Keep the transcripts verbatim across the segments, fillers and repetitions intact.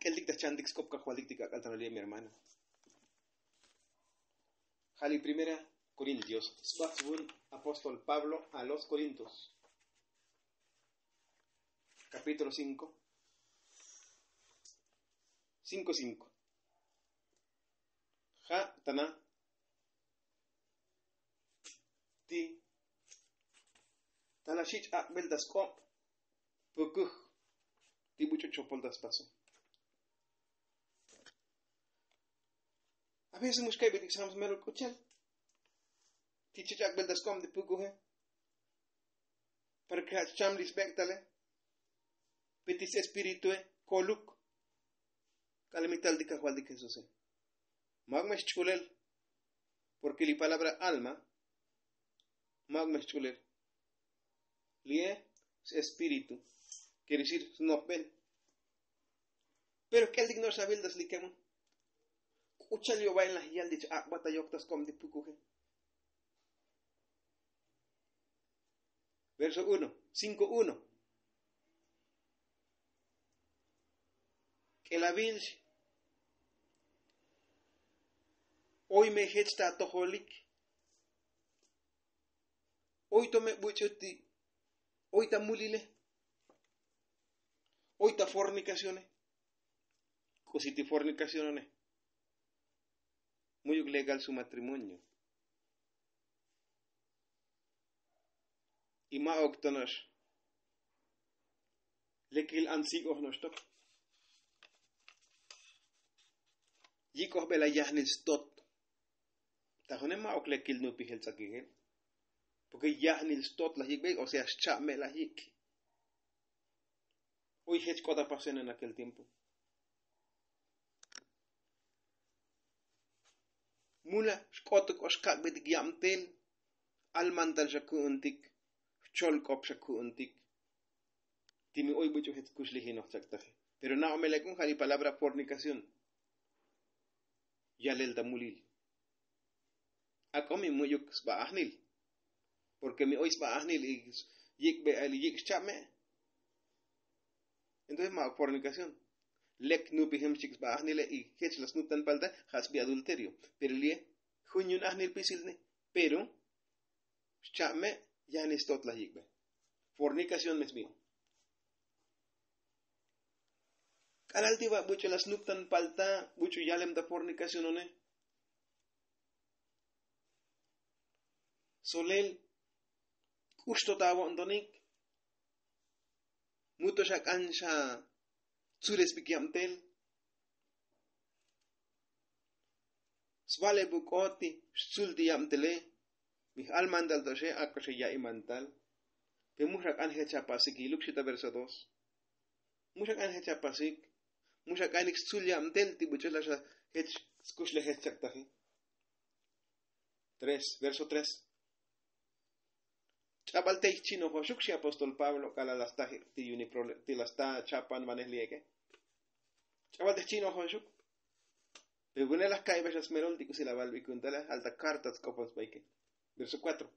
K'eltik ta chantik sk'op kajvaltik ti k'ak'al ta nolib mi hermana. Jali primera korintios sbajtzvun apóstol pablo a los korintos, kapítulo cinko. Cinko cinko. Ja' tana ti tala xich' ak'bel ta sk'ob pukuj ti buch'u chopol ta spaso. A veces mux ka'ybetik xsam smero k'uchel ti chich' ak'bel ta sk'ob ti pukuje. Para ke ja' chcham li sbek' tale. Pe ti s-espiritue koluk. K'alal mi tal ti kajvaltik jesuse. Ma'uk me xch'ulel. Porke li palabra alma ma'uk me xch'ulel. Li'e s-espíritu, kere decir snopbel. Pero k'eltik no'ox sabil ta slikemon. K'uchal yo'bail laj yal ti ch-ak'bat ta yok ta sk'ob ti pukuje. Verso uno, cinko uno. K'elabil oy me jech ta atojolik. Oy to me buch'u ti oy ta mulile. Oy ta fornicacione. K'usi ti fornicacionone. Mu'yuk legal su matrimonio. Y ma'uk to no'ox lekil an sik'oj no'ox tok. Yik'ojbel a yajnil stot. Ta june ma'uk lekil nupijel tz'akijel. Porke yajnil stot laj yik'bel, o sea xcha'me laj yik'. Oy jech k'ot a pasena en akel tiempo. Mula xk'ot k'ox kak'betik yabtel. Almantal xa ku'untik. Jchol k'op xa ku'untik. Ti mi oy buch'u jech kuxliji noj chak'taji. Pero na'o me lek'un ja' li palabra fornicación. Yalel ta mulil. Ak'o mi mu'yuk sba ajnil. Porke mi oy sba ajnil y yik'be yik' xcha'me. Entonces ma'uk fornicación. Lek nupijem xchik sba ajnile y jech la snuptan palta ja' sbi adulterio. Pero li'e jun yu'un ajnil pisil ne. Pero xcha'me yajnil stot laj yik'be. Fornicación me sbi. K'alal ti ba buch'u la snuptan palta buch'u yalem ta fornicacionone. Solel k'ux to ta avo'ntonik. Mu to xa k'an xa tzules bik yabtel. Sbale buk'ot ti xtzul ti yabtele. Mi j'almantal to xe ak'o xe ya'imantal. Pe mu xa k'an jech apasik iluk xita verso dos. Mu xa k'an jech apasik. Mu xa k'anik xtzul yabtel ti buch'u la xa jech skuxlejel chak'taji. Tres verso tres. Ch'abal tey jchi'nojoxuk xi apóstol pablo k'alal la sta jik' ti yuni ti la sta chapan vanej li ek'e. Ch'abal tey jchi'nojoxuk. Pe vune laj ka'ybex la smerol ti k'usi la valbik ku'untale. Alta karta tsk'opol sbaike. Verso kuatro.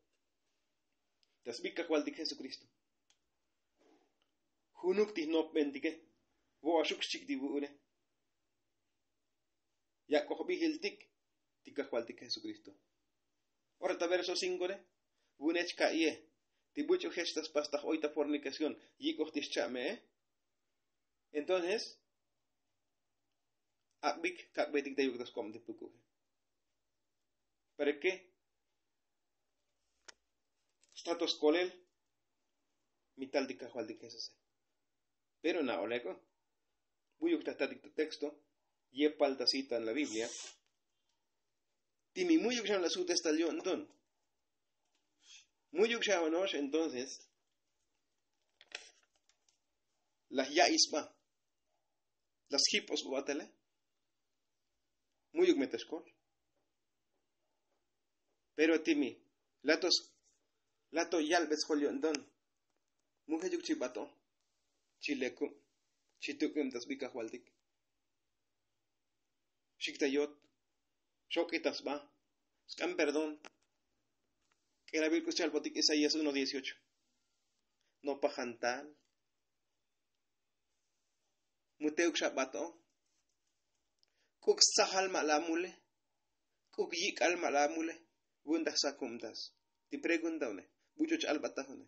Ta sbik kajvaltik jesukristo. Junuk ti jnopbentike. Vo'oxuk xchik ti vu'une. Yak'oj bijiltik ti kajvaltik jesukristo. Ora ta verso cinko re. Vu'une chka'iye ti buch'u jech ta spastaj oy ta fornicación yik'oj ti xcha'me'e. Entonces ak'bik kak'betik ta yuk ta sk'ob ti pukuje. Para ke sta to skolel mi tal ti kajvaltik jesuse. Pero na'o lek'o. Mu'yuk ta tatik ta texto yepal ta cita en la biblia. Ti mi mu'yuk xa la sutes tal yo'nton. Mu'yuk xa ono'ox entonces laj ya'i sba. La sjip'os b'o'atele. Mu'yuk me ta xkol. Pero ti mi lato lato yalb'et sjol yo'nton. Mu jechuk chi b'ato chi lekub' chi tuk'ub' ta sb'i kajvaltik. Xik ta yot. Xok'i ta sb'a. Sk'an perdón. K'elabil k'u schalbotik isaías uno dieciocho. Nopajan tal. Mu te'uk xa b'ato. K'uk' sajal ma' la mule. K'uk' yik'al ma' la mule. Vu'un taj sakubtas ti pregunta une. Buch'u ch'albataj une.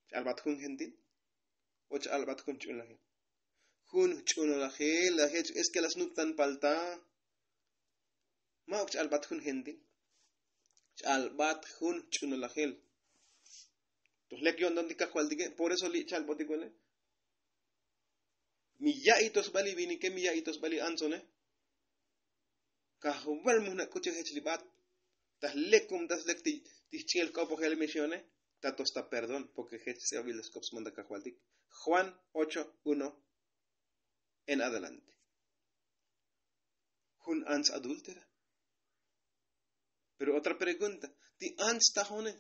Ch'albat jun gentil o ch'albat jun ch'unlajel? Jun ch'unlajel la jech es ke la snuptan palta. Ma'uk ch'albat jun gentil. Ch'albat jun ch'unlajel. Toj lek yo'nton ti kajvaltike. Por eso li' ch'albotik une. Mi ya'iy to sbali vinike mi ya'iy to sbali antsone. Kajval mujna' k'uche jech li bat. Taj lek kum tas lek ti jch'i'el jk'opojel mixone. Tato sta perdón porke jech ts'e'obil ta sk'op smanda kajvaltik. Juan ocho uno en adelante. Jun ants adúltera. Pero otra pregunta. Ti ants tajone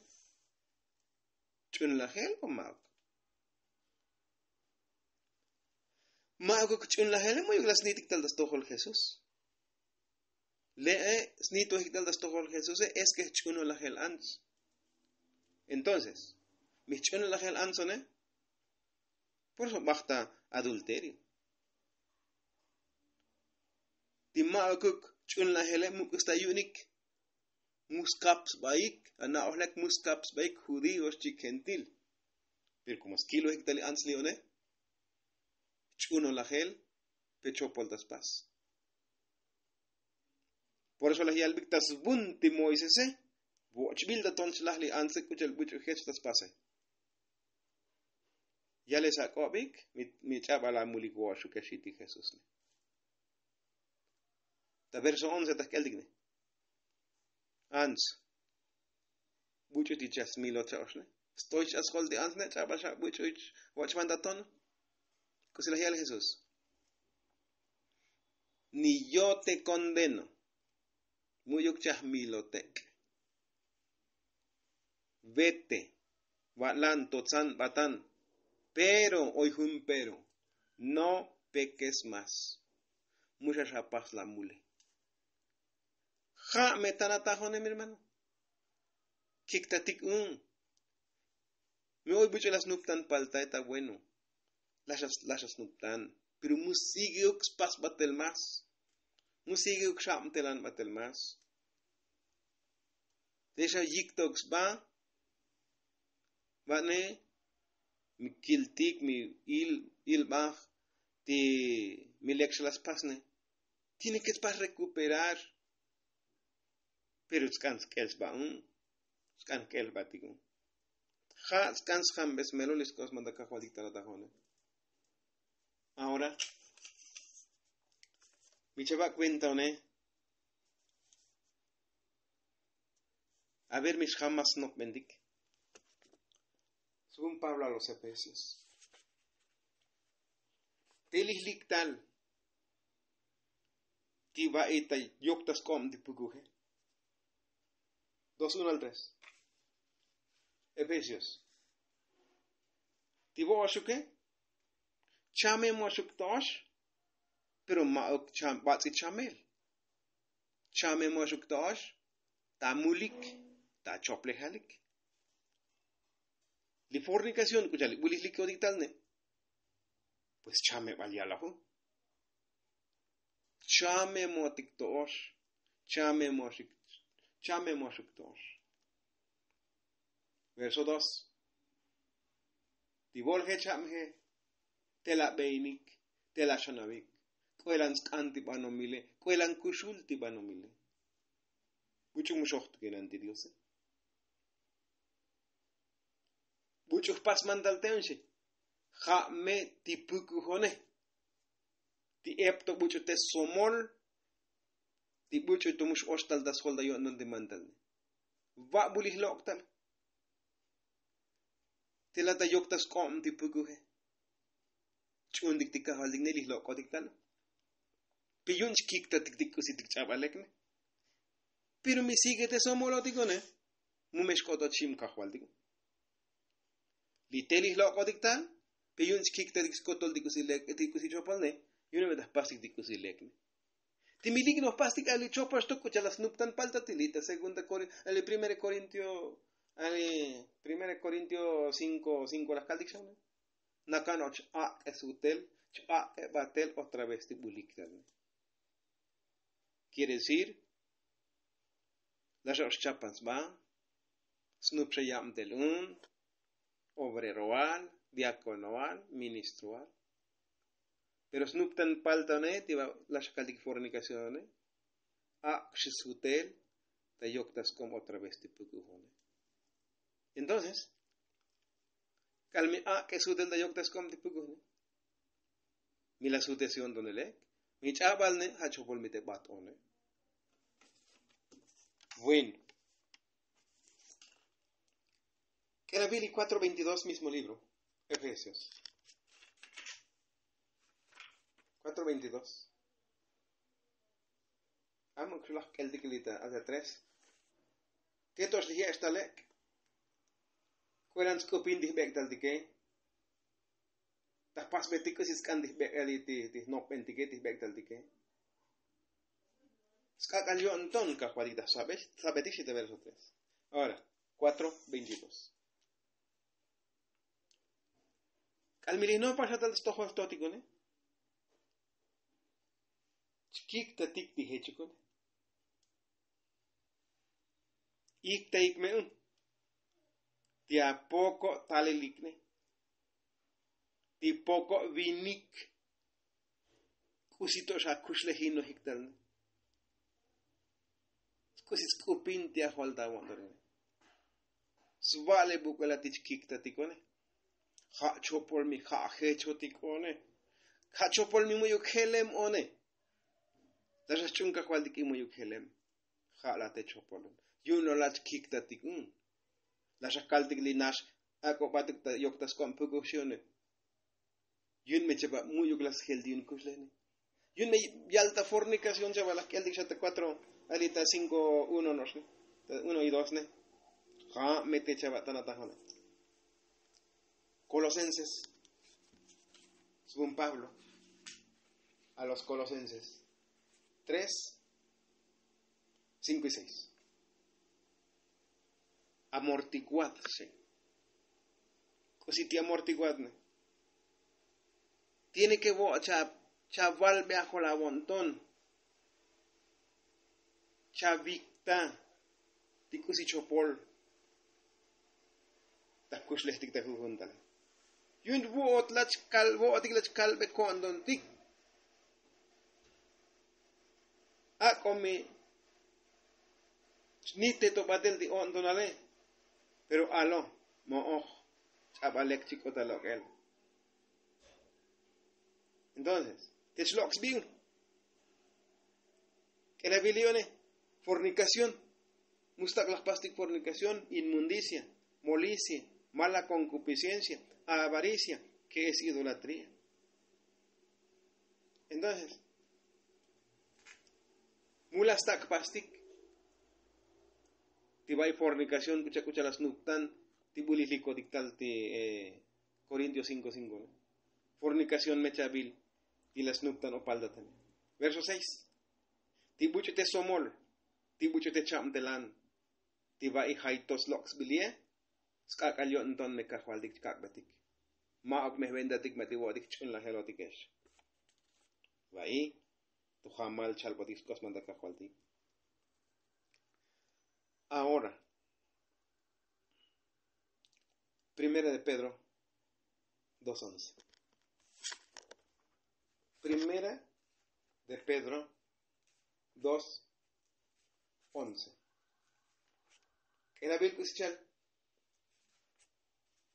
ch'unlajel o ma'uk? Ma'uk ch'unlajele muyuk la sni'tik tal ta stojol jesús. Le'e sni'tojik tal ta stojol jesuse es ke jch'unolajel ants. Entonces mi jch'unolajel antsone. Por eso bajta adulterio. Ti ma'ukuk ch'unlajele muk'us ta yu'unik. Mu skap sbaik ana'ojlek mu skap sbaik judío xchik gentil. Pero komo skilojik ta li ants li one ch'unolajel. Pe chopol ta spas. Por eso laj yalbik ta svun ti moisese. Vochbil ta ton chlaj li antse k'uchel buch'u jech ta spase. Yale sak'obik. Mi ch'abal amulik voxuke xi ti jesús ne. Ta verso once ta jk'eltik ne. Ants buch'u ti chasmilot xa oxne. Stoy ch'asjol ti ants ne ch'abal xa buch'u. Voch'ban ta ton. K'usi laj yal jesús. Ni yo te kondeno. Mu'yuk chajmilotek'. Vete. Va'lan totzan batan. Pero oy jun pero. No pekes mas. Muxa xapas la mule. Ja' me tan atajonem hermano. Kiktatik un. Mi oy buch'u la snuptan palta eta bueno. Laxa snuptan. Pero mu sigueuk spas batel mas. Mu sigueuk xabtelan batel mas. Texa yiktok sba. Va'ne mi kiltik mi il ilbaj ti mi lek xa la spasne. Tiene ke spas rekuperar. Pero tsk'an sk'el sba un. Tsk'an sk'el sba tik un. Ja' tsk'an sjambesmelo li sk'os manda kajvaltik ta la tajone. Ahora mi chava' kuenta one. A ver mi xjam mas snopbentik. Según pablo a los efesios. Te li jliktal. Ti va'i ta yokta sk'ob ti pukuje. Dos uno al tres. Efesios. Ti vo'oxuke. Chame moxuk to'ox. Pero ma'uk bats'i chamel. Chame moxuk to'ox. Ta mulik. Ta choplejalik. Li fornikación k'u cha'al li b'ulijlik yo'tik tal ne. Pues chameb'al yalaju. Chame motik to'ox. Chame moxik. Chame moxuk to'ox. Verso dos. Ti vo'ol jech jab'je. Tela b'einik. Tela xanab'ik. K'oelan sk'an ti b'anomile. K'oelan kuxul ti b'anomile. Buch'u mu xojtukinan ti diose. Buch'u jpas mantal te'on xi. Ja' me ti pukujone. Ti epto buch'u te somol. Ti buch'u to mu x'oxtal ta sjol ta yo'nton ti mantal ne. Va' bulij lok'tal. Tela ta yokta sk'ob ti pukuje. Ch'untik ti kajvaltik ne li jlok'otik tal. Pe yu'un chkiktatik ti k'usitik ch'ab'alek ne. Pero mi sigue te somolotik one. Mu me xk'otot xim kajvaltik. Li te li jlok'otik tal. Pe yu'un chkiktatik skotol ti k'usi lek ti k'usi chopol ne. Yu'un me ta jpastik ti k'usi lek ne. Ti milik noj pastik a li chopol xtok k'u cha'al la snuptan palta ti li ta segunda korin a li primera korintio a li primera korintio cinko cinko laj kaltik xa ne. Nakano' ch-ak'e sutel ch-ak'e batel otra vez ti bulik tal ne. Quiere decir, laxoq xchapan sba, snup xa yabtel un, obreroal, diaconoal, ministroal. Pero snuptan paltane ti ba laxakaltik fornicacione, ak'xi sutel ta yoktask'ob otra vez ti puk'ujone. Entonces, k'al mi ak'e sutel ta yoktask'ob ti puk'ujone, mi la sute si ontonelek, mi ch'abalne ja' chopol mi te bat'one. Bueno. K'elabil y cuatro veintidós, mismo libro, Efesios. Cuatro veintidós. Amuk xulaj k'eltik li ta hacia tres. Keto'ox li je'ex talek. Kuelan sk'upin ti jbek'taltike. Ta jpasbetik k'usi sk'an ti jbek'el ti jnopbentike ti jbek'taltike. Sk'ak'al yo'nton kajvaltik ta sabetik xi ta verso tres. Ahora, cuatro veintidós. K'al mi li nopa xa tal stojol totikune, chkiktatik ti jechikune. Iktaik me un ti apoko' talilikne, ti poko' vinik. K'usi to' xa kuxlejinojik talne. K'usi sk'upin ti ajol ta avo'ntonine. Sva'le buk'uela ti chkiktatikone. Ja' chopol mi ja' jechotikone. Ja' chopol mi mu'yuk jelem one. Laxa xch'un kajvaltik i mu'yuk jelem. Ja' la te chopolun. Yu'un lo la chkiktatik un. Laxa kaltik li nax ak'obatik ta yoktask'ob puk'uj xi one. Yu'un me chaba mu'yuk la sjel ti yu'un kuxlejne. Yu'un me yal ta fornicación chaba laj k'eltik xa ta cuatro, ali ta cinco uno no'oxne, ta uno y dos ne. Ja' me te chaba tana tajone. Colosenses. Según Pablo a los Colosenses tres, cinco y seis. Amortiguad, sí. K'usi ti amortiguadne. Tiene que vo' cha, cha valbe ajol avo'nton. Cha vikta ti k'usi chopol. Ta kuxlejtik ta jujun tal. Yu'un vo'ot lach kal, vo'otik lach kalbe ko'ntontik. Ak'o mi chnite to batel ti o'ntonale. Pero alo mo'oj ch'abalek chik'ot ta lok'el. Entonces te chlok' sbi un. K'elabil li one. Fornicación. Mustak' laj pastik fornicación, inmundicia, molicie, mala concupiscencia, avaricia, que es idolatría. Entonces mu la stak' pastik. Ti ba'i fornicación k'ucha' k'ucha' la snuptan. Ti bulij likotik tal ti Corintios cinco cinco. Fornicación mechabil ti la snuptan o paltatane. Verso seis. Ti buch'u te somol, ti buch'u te chabtelan, ti ba'i jay to slok' sbilie. Sk'ak'al yo'nton me kajvaltik chkak'betik. Ma'uk me jventatik ma ti vo'otik ch'unlajelotikex. Va'i to jamal chalbotik sk'osman ta kajvaltik. Ahora, primera de Pedro dos once. Primera de Pedro dos once. K'elabil k'usi chal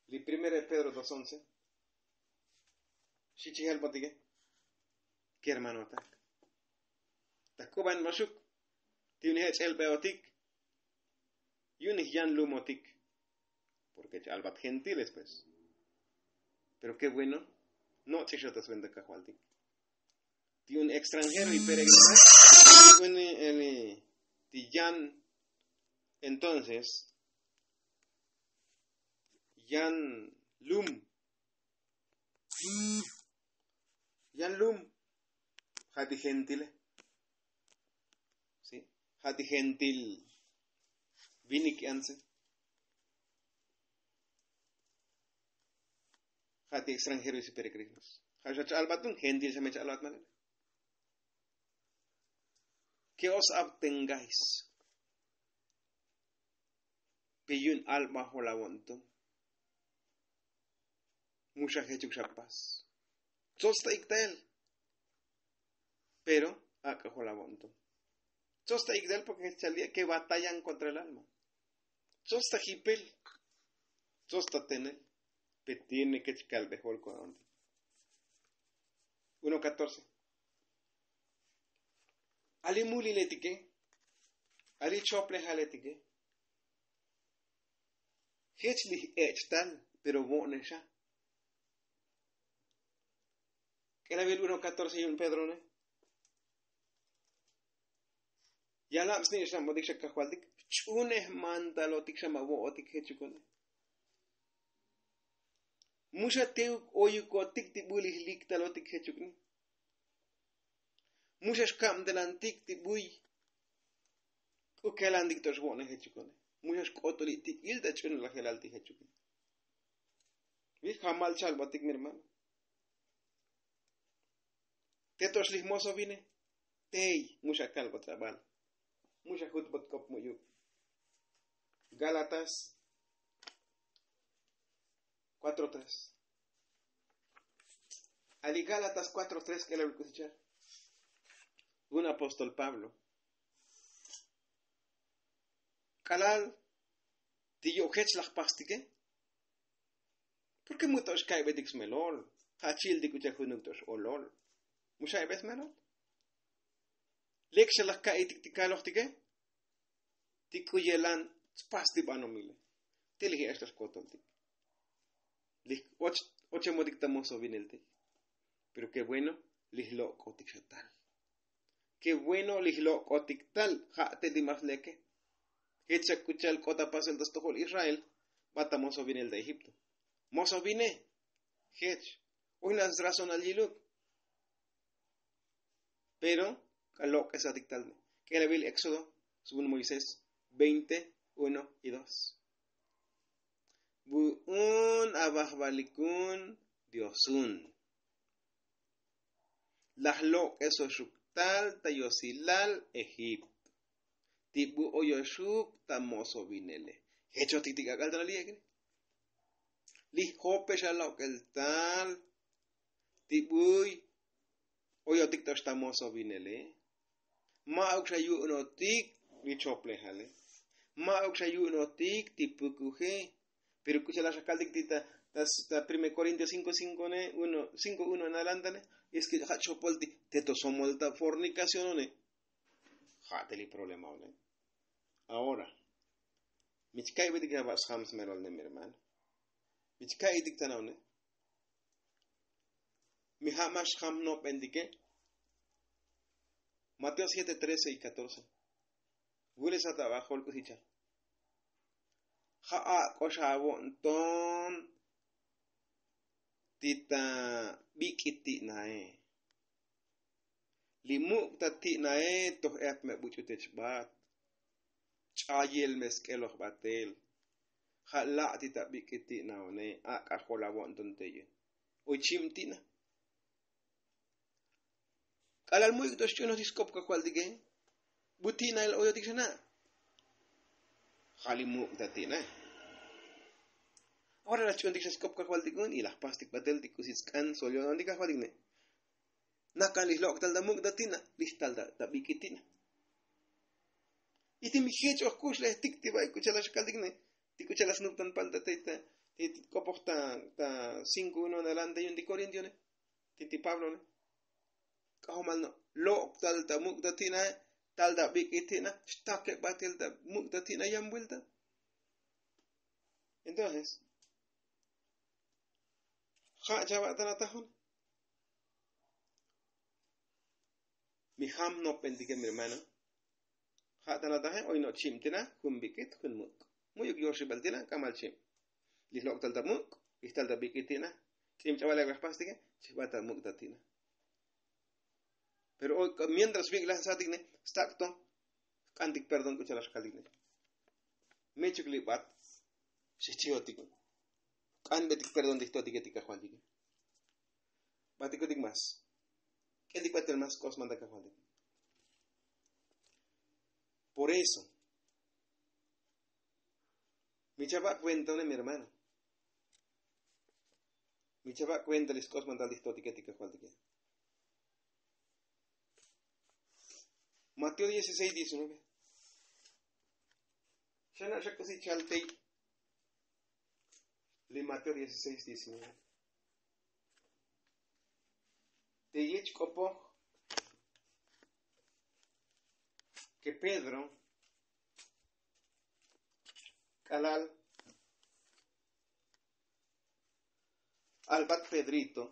li primera de Pedro dos once. Xi chijal botike. Kermanotak, ta k'uban maxuk ti unije' ch'elbeotik. Yu'un ijyan lumotik. Porke ch'albat gentiles pues. Pero ke bueno. No ch'ixotas venta kajvaltik. Ti un extranjero y peregrino ti yan. Entonces yan lum. Yan lum ja' ti gentile. Si ja' ti gentil vinik anse. Ja' ti extranjeros y peregrinos. Ja' xa ch'albatun gentil xa me ch'albat manera. Ke os abtengais pe yu'un albajol avo'nton. Mu xa jechuk xa pas. Tsots ta iktael. Pero ak'ajol avo'nton. Tsots ta iktael porke jech chal ye' ke batayan kontra el alma. Tsots ta jipel. Tsots ta tenel. Pe tiene ke chkalbejol ko'nti. Uno katorce. Ali muliletike. Ali choplejaletike. Jech lij ech' tal pero vo'nexa. K'elabil uno katorce yu'un pedrone. Yalab sni'ex na'motik xa kajvaltik. Ch'unej mantalotik xa ma' vo'otik jechukone. Mu xa teuk oyukotik ti bu lij liktalotik jechukne. Mu xa xkabtelantik ti buy k'ukelantik to xvo'ne jechukone. Mu xa xk'otuli' tik'il ta ch'unulajelal ti jechukne. Jamal chalbotik mi hermano. Te to xlij moso vine tey. Mu xa kalbot abal. Mu xa jutbot k'op mu'yuk. Gálatas cuatro tres. Ali gálatas cuatro tres k'elal k'usichal. Un apóstol pablo k'alal ti yo'jech laj pastike. Porke mu to xka'ybetik smelol. Ja' chi'iltik uchal junuk to x'olol. Mu xa'ybe smelol. Lek xa laj ka'itik ti kalojtike. Ti k'u yelan tspas ti banomile. Ti lij e'ex to xkotoltik. Lij och ochemotik ta mosovinelte. Pero ke bueno lij lok'otik xa tal. Ke bueno lij lok'otik tal. Ja' te ti mas leke. Jech xa k'u cha'al k'ot ta pasel ta stojol israel. Bat ta mosovinel ta egipto. Moso vine jech. Ojna srazonal yiluk. Pero k'al lok'esatik tal. K'elabil éxodo svun moisés veinte uno y dos. Vu'un avajvalikun diosun. Laj lok'esoxuk tal ta yosilal egipto. Ti bu oyoxuk ta mosovinele. Jechotik ti k'ak'al ta liyek'ne. Lij jopex alok'el tal. Ti buy oyotik to xta mosovinele. Ma'uk xa yu'unotik li choplejale. Ma'uk xa yu'unotik ti pukuje. Pero k'u cha'al xa kaltik ti ta prime korintio cinko cinko ne uno cinko uno en adelantane. Es ke ja' chopol ti te to somol ta fornikacionone. Ja' te li problemaone. Ahora mi chka'ybetik ya ba' sjam smelol ne mi hermano. Mi chka'ytik ta na'one. Mi ja' ma xjam nop'entike. Mateo siete trece y katorce. Wulesat abajol k'usichal. Ja' ak'ox avo'nton ti ta bik'it ti'nae. Li muk' ta ti'nae toj ep me buch'u te chbat. Ch'ayel me sk'eloj batel. Ja' la' ti ta bik'it ti'naone. Ak'ajol avo'nton te yu' oy chim ti'na. K'alal mu'yuk to xch'unoj ti sk'op kajvaltike. Bu ti'nael oyotik xa na'. Ja' li muk' ta ti'nae. Ahora laj ch'untik xa sk'op kajvaltik un y laj pastik batel ti k'usi tsk'an sol yo'nontik kajvaltik ne. Nakan lij lok' tal ta muk' ta ti'na lij tal ta bik'it ti'na. Y ti mi jech oj kuxlejtik ti ba'i k'u cha'al xa kaltik ne. Ti k'u cha'al xa snuptan pal ta te ta ti k'opoj ta cinko uno en adelante yu'un ti korintione. Ti ti pablone. K'ajomal no' lok' tal ta muk' ta ti'nae. Tal ta bik'it ti'na xtakeb batel ta muk' ta ti'na yan vuelta. Entonces ja' chava'tan atajon. Mi jam nopbentike mi hermano. Ja' tan ataje oy no' chib tina jun bik'it jun muk'. Mu'yuk yoxibal tina k'amal chib. Lij lok'tal ta muk' lij tal ta bik'it tina. Ch'ib ch'abal ek' laj pastike chijbat ta muk' ta tina. Pero oy mientras bik' laj satik ne stak' to jk'antik perdón k'u cha'al laj xkaltik ne. Mechuk li bat xijchijotik. K'anbetik perdón ti jtotike ti kajvaltike. Batikotik mas k'etik batel mas k'os manta kajvaltik. Por eso mi chava' kuenta mi hermano. Mi chava' kuenta li sk'os mandal ti jtotike ti kajvaltike. Mateo dieciséis diecinueve. Xana' xa k'usi chaltey li Mateo dieciséis diecinueve. Te yich k'opoj ke Pedro k'alal albat Pedrito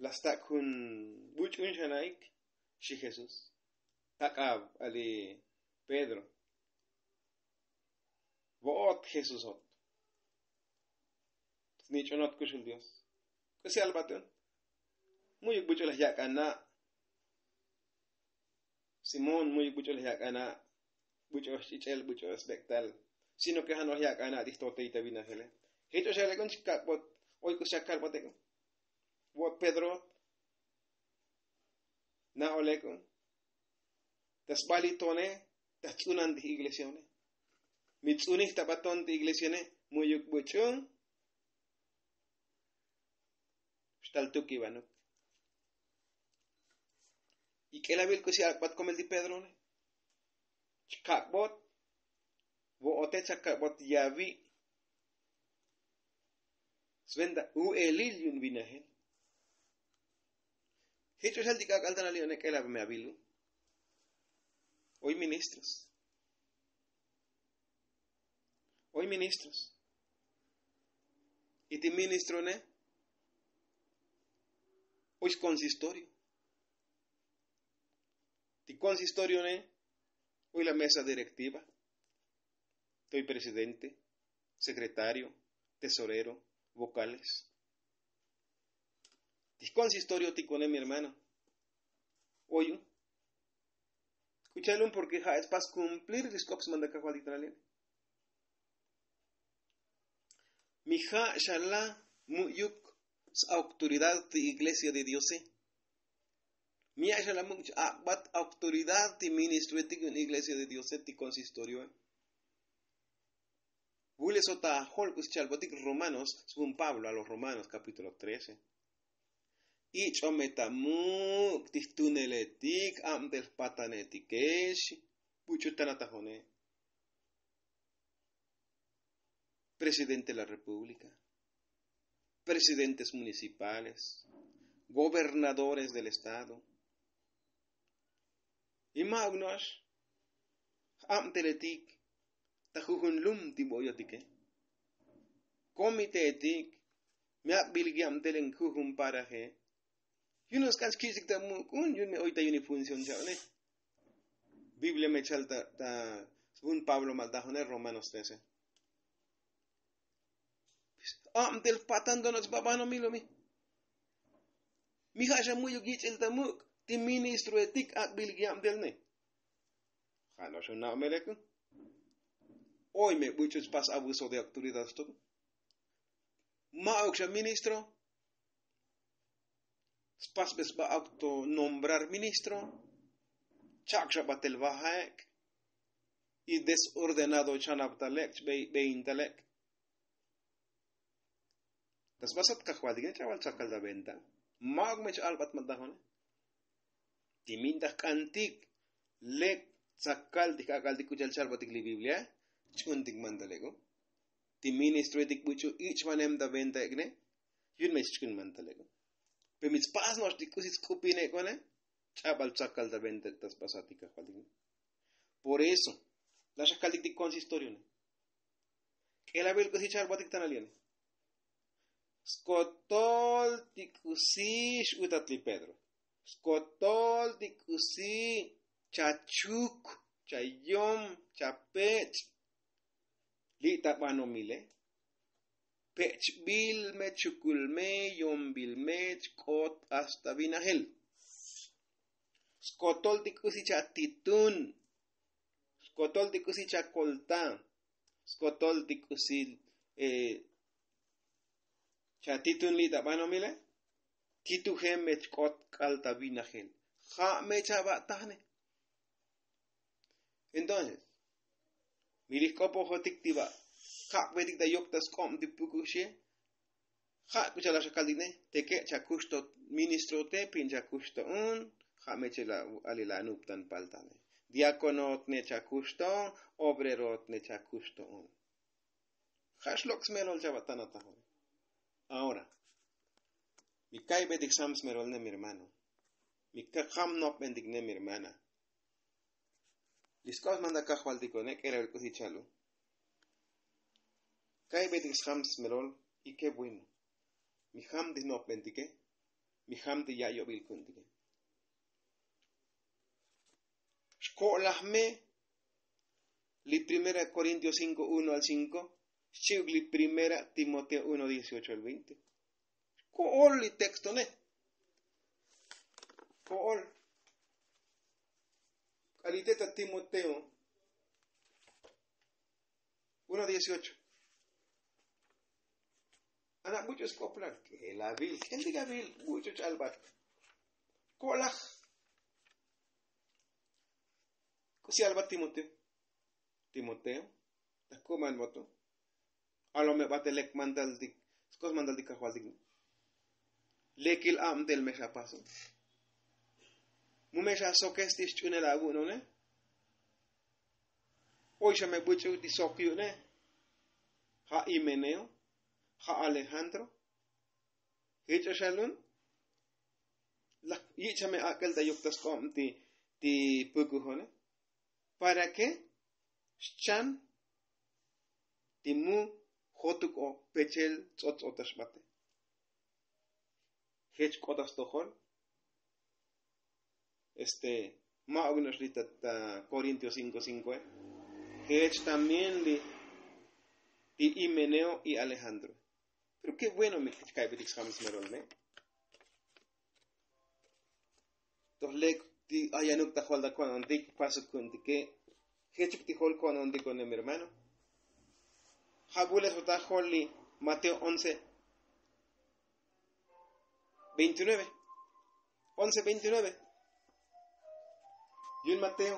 la stak' jun buch'un xana'ik. Xi Jesús tak'ab ali Pedro. Vo'ot Jesusot snich'unot kuxul Dios. K'usi albatun mu'yuk buch'u laj yak'ana'. Simón mu'yuk buch'u laj yak'ana'. Buch'u xch'ich'el buch'u sbek'tal sino ke ja' noj yak'ana' ti jtotey ta vinajele. Jich'u xalek'un chkak'bot oy k'us chakalbot ek'un. Vo'ot Pedro na'olek'un ta sbalitone ta jtz'unan ti iglesione. Mi tz'unej ta baton ti iglesione mu'yuk buch'un xtal tuk ibanuk. Ik'elabil k'usi ak'bat komel ti Pedrone. Chkak'bot vo'ote chakak'bot yavi' sventa u'elil yu'un vinajel. Jich'u xal ti k'ak'al tan ali one k'elab me avilu. Oy ministros. Oy ministros. Y ti ministrone oy skonsistorio. Ti konsistorione oy la mesa direktiva. Toy presidente, sekretario, tesorero, vokales. Ti jkonsistorio ti kone mi hermano. Oy un k'ucha'al un porke ja' spas kumplir li sk'op smanda kajvaltik ta nalien. Mi ja' xala mu'yuk s-autoridad ti iglesia de diose. Mi ja' xala mu'yuk ch-ak'bat autoridad ti ministroetik yu'un iglesia de diose ti konsistorioe. Vule sota jol k'us chalbotik romanos svun pablo a los romanos kapítulo trece. Ich'ome ta muk' ti jtuneletik abtel jpatanetikex. Buch'u tanatajone presidente de la repúblika, presidentes municipales, gobernadores del estado. Y ma'uk no'ox j'abteletik ta jujun lum ti bo'yotike. Komiteetik mi ak'bilik yabtelen jujun paraje. Yu'un sk'an xkich'tik ta muk'un yu'un me oy ta yu'un ifunción cha'one. Biblia me chal ta jun pablo maltajone romanos trece. Abtel patan donots babanomil umi. Mi ja' xa mu'yuk yich'il ta muk' ti ministroetik ak'bilik yabtelne. Ja' no'ox un na'omelekun. Oy me buch'u spas abuso de autoridad stok. Ma'uk xa ministro spasbe sba akto nombrar ministro. Chak' xa batel vajaek' y desordenado chanabtalek' chbe'intalek'. Ta sbasat kajvaltik ne ch'abal tsakal ta venta. Ma'uk me ch-albat matajone. Ti mintaj k'antik lek tsakal ti jak'al ti k'u cha'al chalbatik li biblia. Ch'untik mantalek'u ti ministroetik buch'u ich'vanem ta venta ek'ne. Yu'un me chch'un mantalek'u. Pe mi tspas no'ox ti k'usi tsk'upinek'one. Ch'abal tsakal ta venta ta sbasat ti kajvaltik ne. Por eso la xakaltik ti konsistorione. K'elabil k'usi chalbatik tanal yene. Skotol ti k'usi x'utat li pedro. Skotol ti k'usi chachuk, chayom, chapech'. Li' ta banomile. Pech'bil me chukul me yombil me chk'ot hasta vinajel. Skotol ti k'usi chatitun. Skotol ti k'usi chakolta. Skotol ti k'usi chatitun li' ta banomile. Tituje me chk'ot k'al ta vinajel. Ja' me chavatajne. Entonces, mi lij k'opojotik ti ba' kabbetik ta yok ta sk'ob ti pukuxie. Ja' k'u cha'al xa kaltik ne teke' cha kux to ministro te pin cha kux to un. Ja' me chela' alila' nuptan paltane diakono tne cha kux to, obrero tne cha kux to un. Ja' xlok' smelol chava' tana tajon. Ahora, mi ka'ybetik sam smerol ne mi hermano, mi kajam nopbentik ne mi hermana. Li sk'ob smanda kajvaltiko ne k'elavil k'usi chalu. Ka'ybetik sjam smerol. Y ke bueno, mi jam ti jnopbentike, mi jam ti ya' yobil ku'untike. Xko'laj me li primera korintio cinko uno al cinko, xchi'uk li primera timoteo uno dieciocho al veinte. Ko'ol li texto ne. Ko'ol. K'alite ta timoteo uno dieciocho. Ana buch'u sk'oplal k'elavil k'eltik avil buch'u ch'albat. Ko'laj. K'usi albat timoteo? Timoteo, ta kuman moto. Alome bate lek mandaltik, skos mandaltik kajvaltik. Lekil abtel me xa paso. Mu me xa sokes ti xch'unel avu'none. Oy xa me buch'u ti sok yu'ne. Ja' himeneo, ja' alejandro. Jich'o xalun. Laj yich' xa me ak'el ta yuk ta sk'ob ti ti pukujone. Para ke xchan ti mu jotuk o pechel ts'ot ts'otax bate. Jech k'otas tojol. Este, ma' ovinox li ta korintio cinko cinko e. Jech también li ti himeneo y alejandro. Pero ke bueno mi kich ka'ybetik sjam smerol ne. Toj lek ti ayanuk ta jol ta ko'nontik pasuk ku'untike. Jechuk ti jol ko'nontiko ne mi hermano. Ja' vule' sota jol li mateo once veintinueve. Once veintinueve. Yun mateo.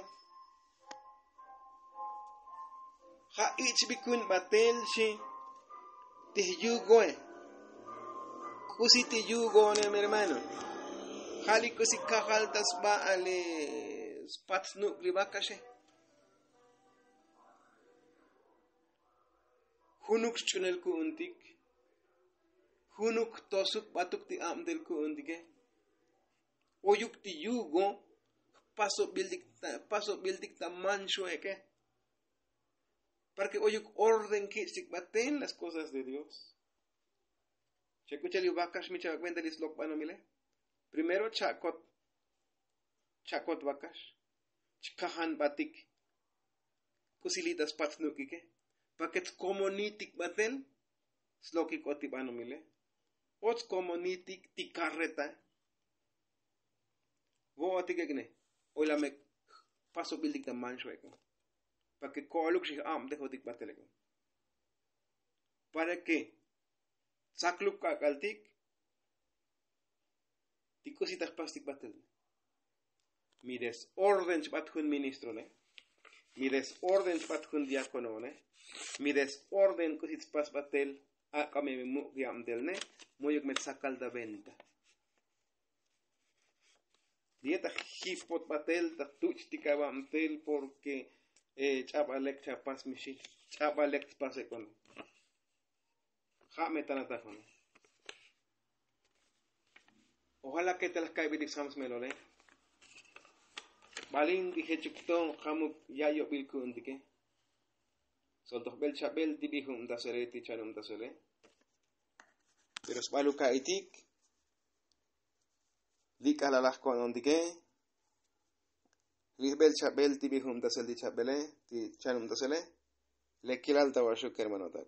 Ja' ich' vikun batel xi. Ti yugoe. K'usi ti yugoone mi hermano? Ja' li k'usi kajal ta sba a li spat snuk' li vakaxe. Junuk xch'unel ku'untik. Junuk tosuk batuk ti abtel ku'untike. Oyuk ti yugo jpasobiltik ta manxueke. Para ke oyuk orden kich'tik batel las kosas de dios. Xa k'u cha'al li vakax mi cha'al kuenta li slok banomile. Primero cha'kot cha'kot vakax. Chkajan batik. K'usi li ta spat snuk'ike. Para ke tkomonitik batel slokik o ti banomile. O tkomonitik ti karreta. Vo'otik ek'ne. Oy la me jpasobiltik ta manxueke. Para ke ko'oluk xijabtejotik batel ek'ne. Para ke tsakluk k'ak'altik. Ti k'usi ta jpastik batel. Mi desorden chbat jun ministrone. Mi desorden chbat jun diakonone. Mi desorden k'usi chpas batel. Ak'ame mi muk' yabtelne. Moyuk me tsakal ta venta. Li ye ta jipot batel ta tuch' ti kaba' mtel porke ch'aba lek chapas mixi. Ch'aba lek chpas ek'on. Ja' me tana tajone. Ojala ke ta laj ka'ybetik sjam smelole. Balin bi jechuk to jamuk ya' yobil ku'untike. Soltoj bel chabel ti bijubtasele ti chanubtasele. Pero sbaluk ka'itik. Li' k'alalaj ko'nontike. Li' jbel chabel ti bijubtasel ti chabele ti chanubtasele. Le kilal ta vaxuk kermanotak.